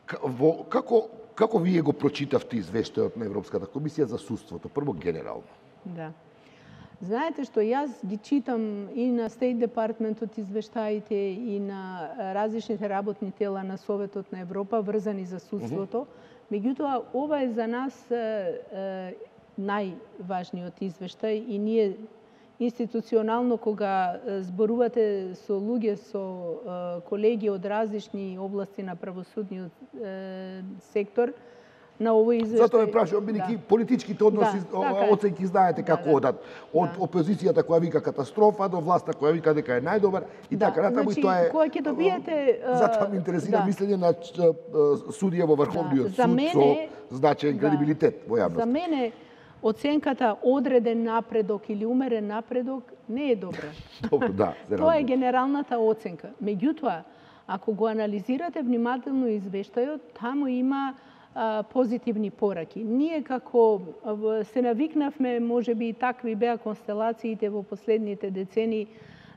Како вие го прочитавте извештајот на Европската комисија за судството? Прво генерално. Да. Знаете што, јас ги читам и на State Department-от извештаите и на различните работни тела на Советот на Европа врзани за судството. Меѓутоа, ова е за нас најважниот извештај и ние институционално кога зборувате со луѓе, со колеги од различни области на правосудниот сектор, на овој извештај. Затоа ме прашувам, бидејќи политичките односи, оценки знаете како одат. Од опозицијата која вика катастрофа до власта која вика дека е најдобар и така натаму, и тоа е. Кога ќе добиете затоа ме интересира мислење на судија во Врховниот суд со значаен кредибилитет во јавноста. За мене оценката одреден напредок или умерен напредок не е добра. Добро, да. Тоа е генералната оценка. Меѓутоа, ако го анализирате внимателно извештајот, таму има позитивни пораки. Ние како се навикнавме, можеби и такви беа констелациите во последните децени,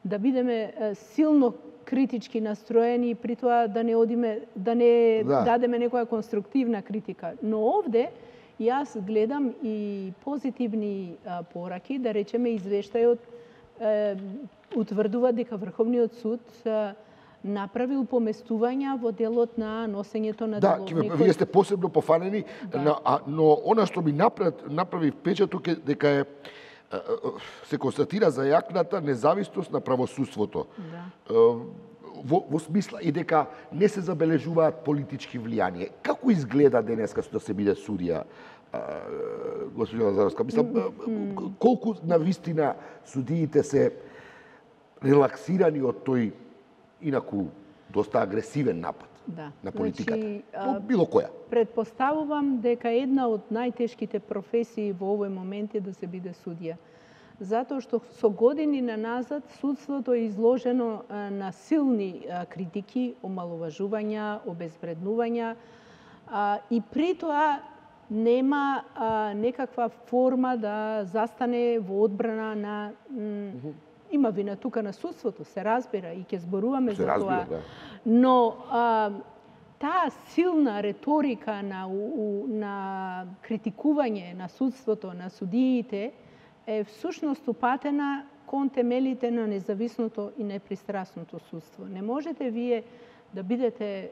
да бидеме силно критички настроени, при тоа да не дадеме некоја конструктивна критика. Но овде јас гледам и позитивни пораки, да речеме извештајот утврдува дека Врховниот суд направил поместувања во делот на носењето на деловникот. Да, вие сте посебно пофанени, но она што ми направи впечаток е дека се констатира за јакната независност на правосудството. Во смисла и дека не се забележуваат политички влијанија. Како изгледа денеска да се биде судија, госпожа Лазаровска? Мислам, колку навистина судиите се релаксирани од тој инаку доста агресивен напад на политиката? Значи, било која? Предпоставувам дека една од најтешките професии во овој момент е да се биде судија. Затоа што со години наназад судството е изложено на силни критики, омаловажувања, обезвреднувања и при тоа нема некаква форма да застане во одбрана на има вина тука на судството, се разбира и ќе зборуваме за тоа. Но таа силна реторика на критикување на судството, на судиите, е всушност упатена кон темелите на независното и непристрасното судство. Не можете вие да бидете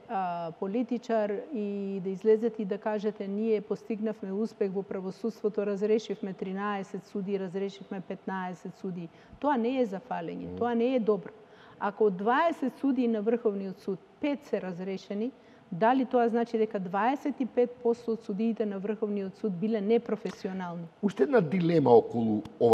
политичар и да излезете и да кажете ние постигнавме успех во правосудството, разрешивме 13 суди, разрешивме 15 суди. Тоа не е за фалење, тоа не е добро. Ако од 20 суди на Врховниот суд 5 се разрешени, дали тоа значи дека 25% од судиите на Врховниот суд биле непрофесионални? Уште една дилема околу ова